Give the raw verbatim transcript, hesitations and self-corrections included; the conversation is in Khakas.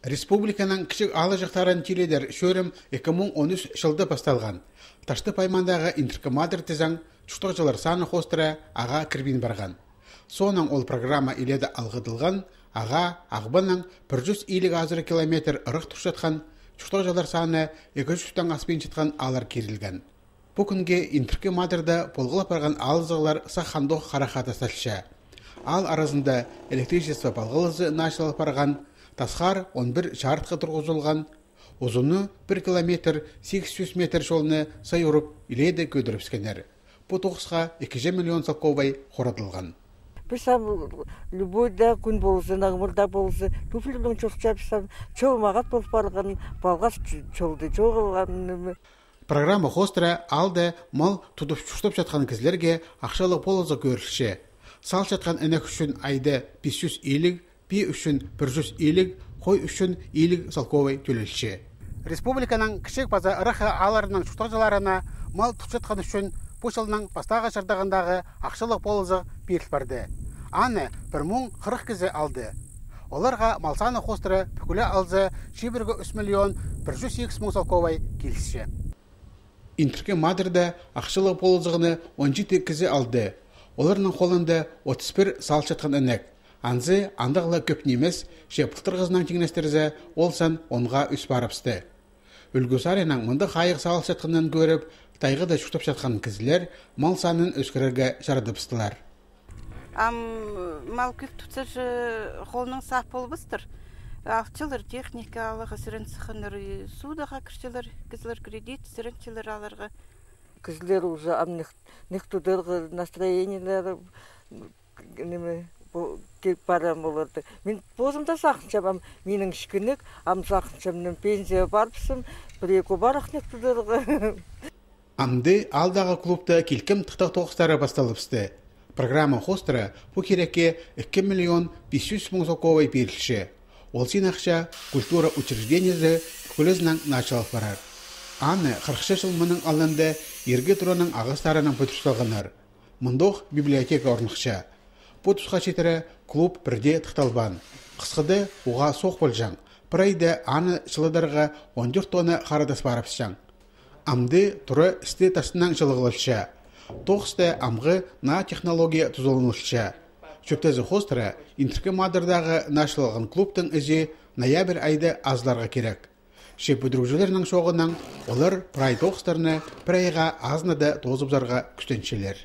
Республиканың кічіг аалҷахтарын тиледер чӧрім ікі муң он ӱс чылда пасталған. Таштып аймағындағы Интіркі Мадар тізең, чуртағҷылар саны хоостыра ағаа кірбин парған. Соонаң ол программа илееде алғыдылған, ағаа Ағбаннаң пір чӱс илиг азыра километр ырах турчатхан, чуртағҷылар саны ікі чӱстең аспинчатхан ааллар кирілген. Пу кӱнге Интіркі Мадарда полғлап парған аалзығлар сах андох харахха тасталча. Аал аразында электричество палғалызы началып парған, тасхар он пір чаартхы турғызылған, узуны пір километр сигіс чӱс метр чолны сай урып, илееде кӧдірібіскеннер. Пу тоғысха ікі чӱс миллион салковай хорадылған. Піс ам любой да кӱн ползын, аңмыр даа ползын, туфлинаң чӧрчебіс ам, чол мағат пол парған, палғас чолда чоғылған. Программа хоостыра аалда мал тудып чуртапчатхан кізілерге ахчалығ полызығ кӧрілче. Салчатхан інек ӱчӱн айда пис чӱс илиг, пии ӱчӱн пір чӱс илиг, хой ӱчӱн илиг салковай тӧлелче. Республиканың кічіг паза ырах аалларының чуртағҷыларына мал тутчатхан ӱчӱн пу чылның пастағы чардығындағы ахчалығ полызығ пиріл парды. Аны пір муң хырых кізі алды. Оларға мал саны хоостыра пӱкӱле алза, чибіргі ӱс миллион пір чӱс сигіс муң салковай килісче. Интіркі Мадарда ахчалығ полызығны он читі кізі алды. Оларның холында отыс пір салчатхан інек. Анзы андағ ла кӧп нимес, че пылтырғызынаң тиңнестірзе, ол сан онға ӧс парыбысты. Ӱлгӱ саринаң мындағ хайығ салчатханын кӧріп, тайғада чуртапчатхан кізілер мал санын ӧскірерге чарадыбыстылар. Ам мал кӧп тутса, че холнаң сап полбастыр. Алчалар техника аларға, сірен сыхханнар, и судаға кірчелер, кізілер кредит, сіренчелер аларға. Кізілер уже ам нех, нех тударға настроениелері, ниме, пу, киліп парам оларды. Мин позым да сағынчам, ам минің кічігнек, ам сағынчам, мин пенсияға парыбысым, пір-ікі парах нех тударға. Амды аалдағы клубта килкім тыхтағ тоғыстары пасталыбысты. Программа хоостыра пу кирекке ікі миллион пис чӱс муң салковай пирілче. Ол син ахча культура учреждениезі пӱкӱлезінең началып парар. Аны хырыхча чыл мының алнында иргі тураның ағастарынаң пӱдір салғаннар. Мындох библиотека орныхча. Пу тусха читіре клуб пірдее тыхталбаан. Хысхыда уғаа соох полҷаң. Пір айда аны чылыдарға он тӧрт тонна хара тас парыбысчаң. Амды тура істі тастынаң чылығлалча. Тоғыста амғы наа технология тузаланылча. Чӧптезі хоостыра Интіркі Мадардағы началған клубтың ізі ноябрь айда азыларға кирек. Че пӱдірігҷілернің чооғынаң олар прай тоғыстарны пір айға азынада тоозыбызарға кӱстенчелер.